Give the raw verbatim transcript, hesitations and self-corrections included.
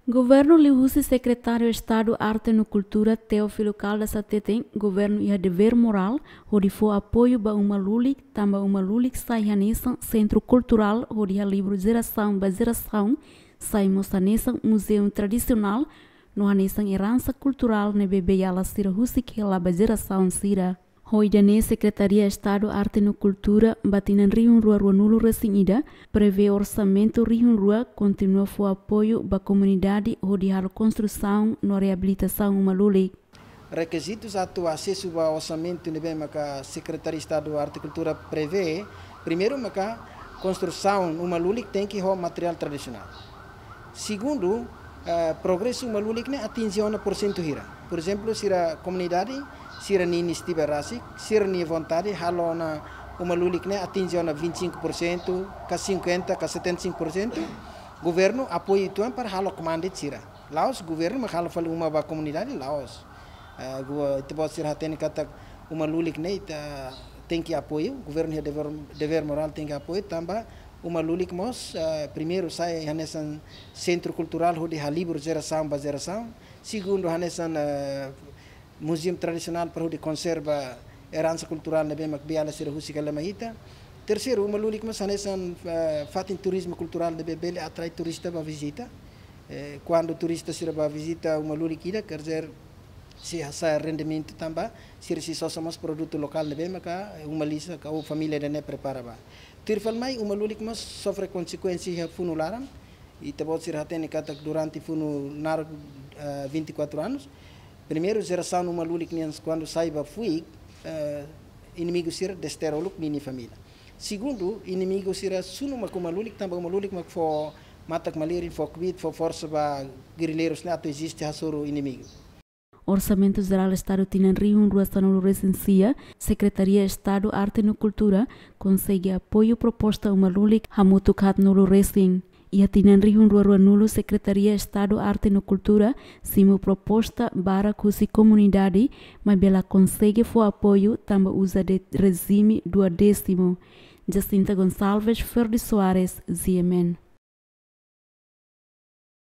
Governu liuhusi Sekretáriu Estadu Arte no Kultura Teófilo Caldas hateten, governu iha devér morál hodi fó apoiu ba uma lulik, tanba uma lulik sai hanesan sentru kulturál hodi halibur jerasaun ba jerasaun, sai mós hanesan muzeu tradisionál, no hanesan eransa kulturál ne'ebé beiala sira husik hela ba jerasaun sira. Ho ida-ne'e Sekretaria Estadu Arte no Kultura ba tinan rihun rua rua nulu resin ida prevee orsamentu rihun rua kontinua fó apoiu ba komunidade hodi halo konstrusaun no reabilitasaun uma lulik. Rekizitus atu asesu ba orsamentu ne'ebé maka Sekretaria Estadu Arte Kultura prevee, primeiru maka konstrusaun uma lulik tenke ho materiál tradisionál. Segundu, eh, progresu uma lulik ne'e atinje ona porsentu hira. Por ezemplu, sira komunidade, sira-nia inisiativa rasik, sira-nia vontade, halo ona uma lulik ne'e atinje ona vinte e cinco por cento, ka cinquenta, ka setenta e cinco por cento. Governu apoiu uitoan para halo kmaan de'it sira. La'ós governu mak halo fali uma ba komunidade, la'ós. Eh, gua, ita-boot sira hatene katak uma lulik ne'e ita tenke apoiu, governu iha devér, devér morál tenke apoiu, tanba uma lulik mós, eh, primeiru sai hanesan sentru kulturál hodi halibur jerasaun ba jerasaun, segundu hanesan, eh, muzeu tradisionál para hodi konserva eransa kulturál ne'ebé mak beiala sira husik hela mai ita. Terseiru, uma lulik mós hanesan, eh, fatin turizmu kulturál ne'ebé bele atrai turista ba vizita. Eh, kuandu turista sira ba vizita uma lulik ida, quer dizer, sei hasa'e rendimentu tanba sira sei sosa mós produtu lokál ne'ebé maka, eh, uma lisan ka ou família ida-ne'e prepara ba. Tuir fali mai, uma lulik mós sofre konsekuénsia iha funu laran. Ita-boot sira hatene katak durante funu naruk, eh, vinte e quatro anos. Primeiru, jerasaun uma lulik nian kuandu sai ba fuik, eh, inimigu sira desterra uluk ninia família. Segundu, inimigu sira sunu mak uma lulik, tanba uma lulik mak fó matak-malirin, fó kbiit, fó forsa ba gerrileirus ne'e atu eziste hasoru inimigu. Orsamentu Jerál Estadu tinan rihun rua sanulu resin sia, Sekretaria Estadu Arte no Kultura konsege apoiu proposta uma lulik hamutuk haatnulu resin. Iha tinan rihun rua rua nulu, Sekretaria Estadu Arte no Kultura simu proposta barak husi komunidade, maibé la konsege fó apoiu tanba uza de'it rejime duodésimu. Jacinta Gonçalves, Ferdi Soares, G M N.